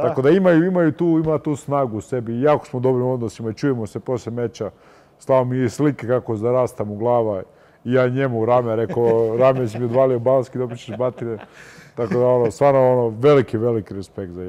Tako da ima tu snagu u sebi i jako smo dobri u odnosima i čujemo se poslije meča. Slao mi je slike kako zarasta mu glava i ja njemu u rame, rekao, rame si mi odvalio balski, dobit ćeš batine. Tako da, stvarno, veliki respekt za